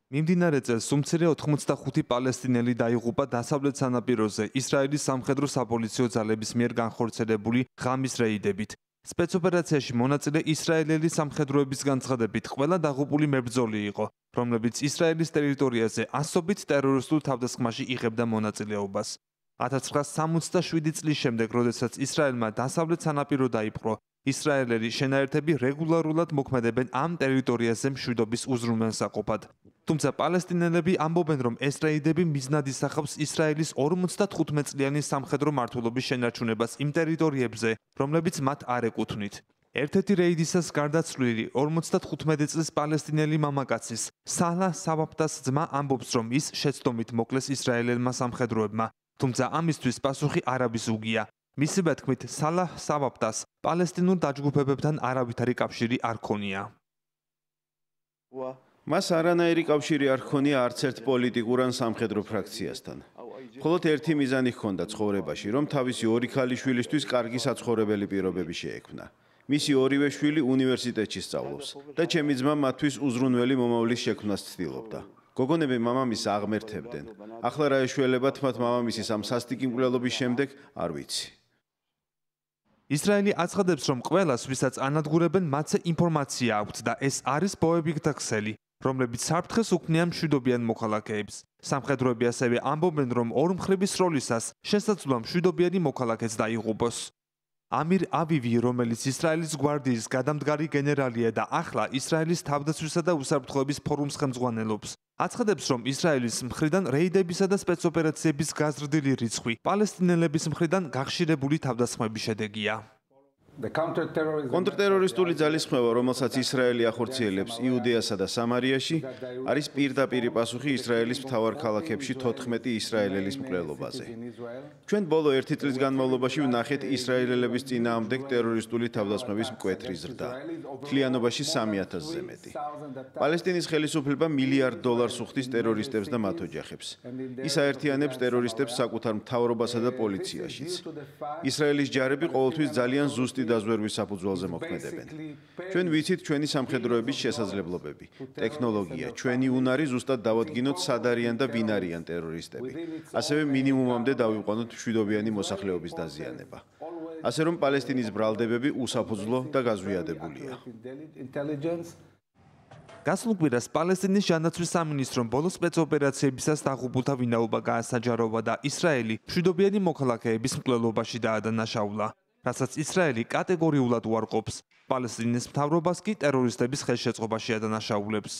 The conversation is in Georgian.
მიმდინარე წელს უმცირე 85 პალესტინელი დაიღუპა დასავლეთ სანაპიროზე ისრაელის სამხედრო საპოლიციო ძალების მიერ განხორციელებული ღამის რეიდებით. სპეცოპერაციაში მონაწილე ისრაელელი სამხედროების განცხადებით ყველა დაღუპული მებრძოლი იყო, რომლებიც ისრაელის ტერიტორიაზე ასობით ტერორისტულ თავდასხმაში იღებდა მონაწილეობას. 1967 წლის შემდეგ, როდესაც ისრაელმა დასავლეთ სანაპირო დაიპყრო, ისრაელელი შენაერთები რეგულარულად მოქმედებენ ამ ტერიტორიაზე მშვიდობის უზრუნველსაყოფად. თუმცა პალესტინელები ამბობენ, რომ ეს რეიდები მიზნად ისახავს ისრაელის 55 წლიანი სამხედრო მმართველობის შენარჩუნებას იმ ტერიტორიებზე, რომლებიც მათ არ ეკუთვნით. ერთ-ერთი რეიდისას გარდაცვლილი 55 წლის პალესტინელი მამაკაცის სალა საბაბტას ძმა ამბობს, რომ ის შეცდომით მოკლეს ისრაელელმა სამხედროებმა, თუმცა ამისთვის პასუხი არაბიზუგია. მისივე თქმით, სალა საბაბტას პალესტინურ დაჯგუფებებთან არავითარი კავშირი არ ჰქონია. მას არანაირი კავშირი არ ჰქონია არც ერთ პოლიტიკურ ან სამხედრო ფრაქციასთან. მხოლოდ ერთი მიზანი ჰქონდა ცხოვრებაში, რომ თავისი ორი ქალიშვილისთვის კარგი საცხოვრებელი პირობები შეექმნა. მისი ორივე შვილი უნივერსიტეტში სწავლობს და ჩემი ძმა მათთვის უზრუნველი მომავლის შექმნას ცდილობდა. გოგონები მამამისს აღმერთებდნენ. ახლა რა ეშველებათ მათ მამამისის ამ სასტიკი მკვლელობის შემდეგ, არ ვიცი. ისრაელი აცხადებს, რომ ყველას, ვისაც ანადგურებენ, მათზე ინფორმაცია აქვთ და ეს არის ბოებიქთა ქსელი, რომლებიც საფრთხეს უქმნიან მშვიდობიან მოქალაქეებს. სამხედროები ასევე ამბობენ, რომ ორმხრივი სროლისას შესაძლოა მშვიდობიანი მოქალაქეც დაიღუპოს. ამირ ავივი, რომელიც ისრაელის გვარდიის გადამდგარი გენერალია და ახლა ისრაელის თავდაცვისა და უსაფრთხოების ფორუმს ხელმძღვანელობს, აცხადებს, რომ ისრაელის მხრიდან რეიდებისა და სპეცოპერაციების გაზრდილი რიცხვი პალესტინელების მხრიდან გახშირებული თავდასხმების შედეგია. კონტრტერორისტული ძალისხმევა, რომელსაც ისრაელი ახორციელებს იუდეასა და სამარიაში, არის პირდაპირი პასუხი ისრაელის მთავარ ქალაქებში 14 ისრაელელის მკვლელობაზე. ჩვენ ბოლო 1 წლის განმავლობაში ვნახეთ ისრაელელების წინააღმდეგ ტერორისტული თავდასხმების მკვეთრი ზრდა. მთლიანობაში 3000-ზე მეტი. პალესტინის ხელისუფლება $1 მილიარდ უხდის ტერორისტებს და მათ ოჯახებს. ის აერთიანებს ტერორისტებს საკუთარ მთავრობასა და პოლიციაშიც. ისრაელის ჯარები ყოველთვის ძალიან ზუსტი დაზვერვის საფუძველზე მოქმედებენ. ჩვენ ვიცით ჩვენი სამხედროების შესაძლებლობები, ტექნოლოგია, ჩვენი უნარი ზუსტად დავადგინოთ სად არიან და ვინ არიან ტერორისტები. ასევე მინიმუმამდე დავიყვანოთ მშვიდობიანი მოსახლეობის დაზიანება. ასე რომ პალესტინის ბრალდებები უსაფუძვლო და გაზვიადებულია. გასულ კვირას პალესტინის ჯანდაცვის სამინისტრომ ბოლო სპეცოპერაციებისას დაღუპულთა ვინაობა გაასაჯაროვა და ისრაელი მშვიდობიანი მოქალაქეების მკვლელობაში დაადანაშაულა. რასაც ისრაელი კატეგორიულად უარყოფს, პალესტინის მთავრობას კი ტერორისტების ხელშეწყობაში ადანაშაულებს.